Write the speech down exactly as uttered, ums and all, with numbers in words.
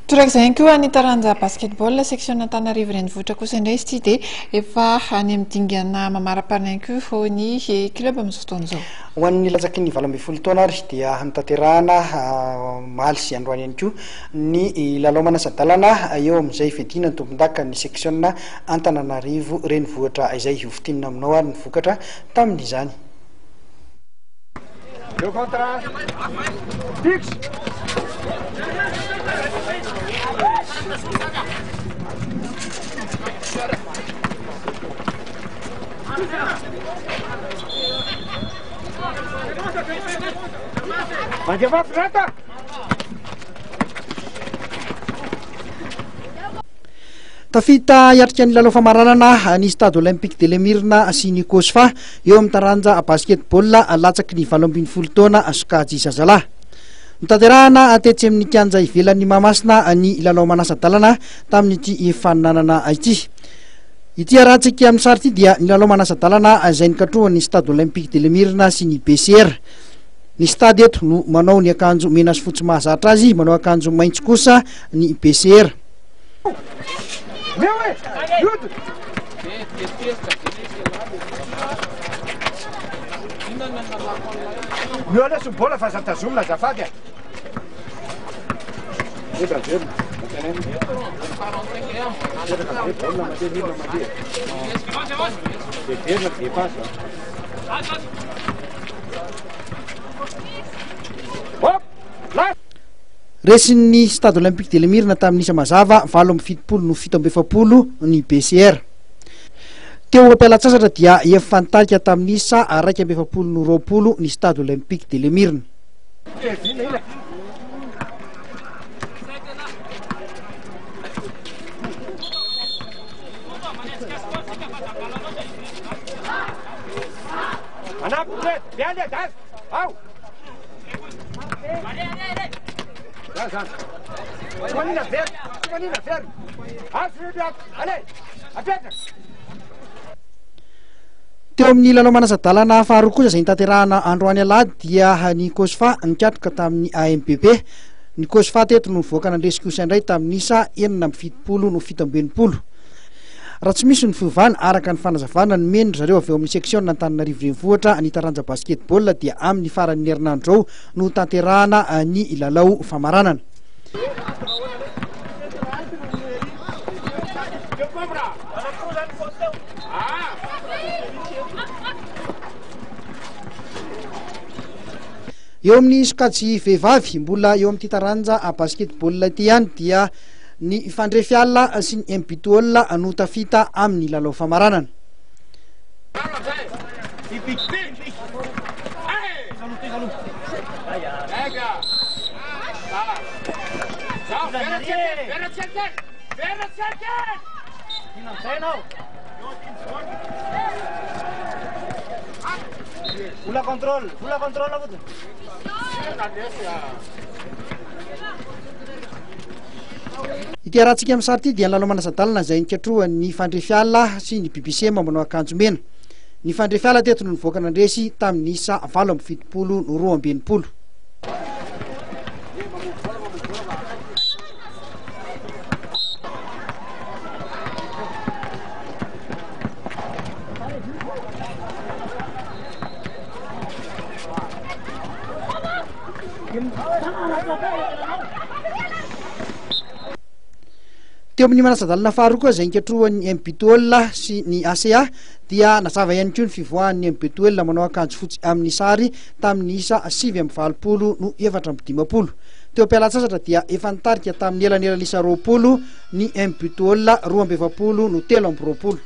Torak'izay ihany koa ny taranja basketball section Antananarivo Renivohitra kosa indray izy ity dia efa any amin'ny dingana mamaraparana ihany koa ny club amin'izao fotoana izao. Ho an'ny latsaky ny valo ambin'ny folo taona ary dia notanterahana omaly sy androany ihany koa ny lalao manasa-dalana eo amin'izay fiadiana ny tompon-daka ny section Antananarivo Renivohitra izay hofintinina aminao ary ny vokatra tamin'izany. Deux contre un. Fixe. Mandefa Frata. Tafita hiatrika ny lalao famaranana ny Stade Olympique de l'Emirina sy ny Cosfa eo amin'ny taranja basketball latsaky ny valo ambin'ny folo taona sokajy zazalahy. Notanterahana tetsy amin'ny kianja ivelan'ny Mahamasina ny lalao manasa-dalana tamin'ity faninanana ity. Ity arahantsika amin'ny sary ity dia ny lalao manasa-dalana izay nikatrohan'ny Stade Olympique de l'Emirina sy ny B C R. Ny stade eto no manao ny akanjo mena sy fotsy mahazatra azy, manao akanjo maitso kosa ny B C R. Resin'ny Stade Olympique de l'Emirina tamin'ny isa mazava valo amby fitopolo no fito amby efapolo ny B C R. Teo am-pialan-tsasatra dia efa nitarika tamin'ny isa iraika amby efapolo no roapolo ny Stade Olympique de l'Emirina. Teo amin'ny lalao manasa-dalana faharoa kosa izay notanterahana androany alahady dia ny Cosfa nikatroka tamin'ny A M B P. Ny Cosfa teto no nivoaka nandresy kosa indray tamin'ny isa enina amby fitopolo no fito amby enimpolo. Raha tsy misy ny fiovana araka ny fanazavana nomeny ry zareo avy eo amin'ny section Antananarivo Renivohitra ny taranja basketball dia amin'ny faran'ny herinandro ao no tanterahana ny lalao famaranana. Eo amin'ny sokajy vehivavy mbola eo amin'ity taranja basketball ity ihany dia ny Fandrefiala sy ny M B Tool no tafita amin'ny lalao famaranana. Ity arahantsika amin'ny sary ity dia ny lalao manasa-dalana izay nikatrohan'ny Fandrefiala sy ny B B C manao akanjo mena. Ny Fandrefiala teto no nivoaka nandresy tamin'ny isa valo amby fitopolo no roa amby enimpolo. Teo amin'ny manasa-dalana faharoa koa izay nikatrohan'ny M B Tool sy ny A C A dia nazava ihany koa ny fivoahan'ny M B Tool manao akanjo fotsy amin'ny sary tamin'ny isa sivy amby valopolo no efatra amby dimampolo. Teo am-pialan-tsasatra dia efa nitarika tamin'ny elanelan'isa roapolo ny M B Tool roa amby efapolo no telo amby roapolo.